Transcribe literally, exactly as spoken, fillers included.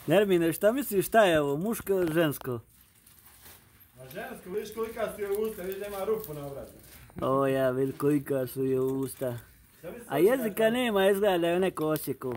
Nermine, šta misliš šta je ovo, muško ili žensko? A žensko, vidiš kolika su joj usta, vidiš da ima rupu na obratu. O ja, vidi kolika su joj usta. A jezika nema, izgleda da je neko osjekao.